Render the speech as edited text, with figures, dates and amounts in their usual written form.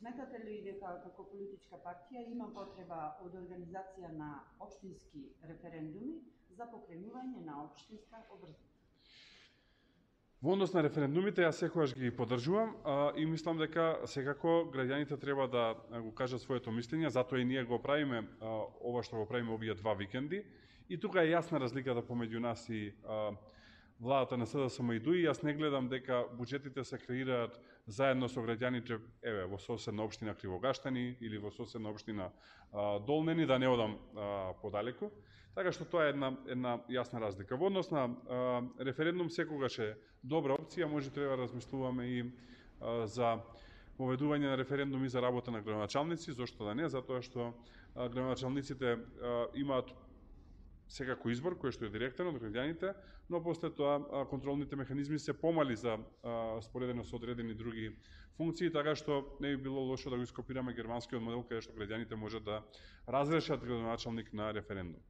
Сметате ли дека како политичка партија има потреба од организација на општински референдуми за покренување на општинска обврзаност? Во однос на референдумите, јас секогаш ги поддржувам и мислам дека секако граѓаните треба да го кажат своето мислење, затоа и ние го правиме ова што го правиме овие 2 викенди. И тука е јасна разликата помеѓу нас и владата на СДСМ и ДУИ. Јас не гледам дека буџетите се креираат заедно со граѓаните, еве, во соседна општина Кривогаштани или во соседна општина Долнени, да не одам подалеку. Така што тоа е една јасна разлика. Во однос на референдум секогаш е добра опција, може треба да размислуваме и за поведување на референдуми за работа на градоначалници, зошто да не, затоа што градоначалниците имаат секако избор кој што е директен од граѓаните, но после тоа контролните механизми се помали за споредено со одредени други функции, така што не би било лошо да го ископираме германскиот модел каде што граѓаните можат да разрешат градоначалник на референдум.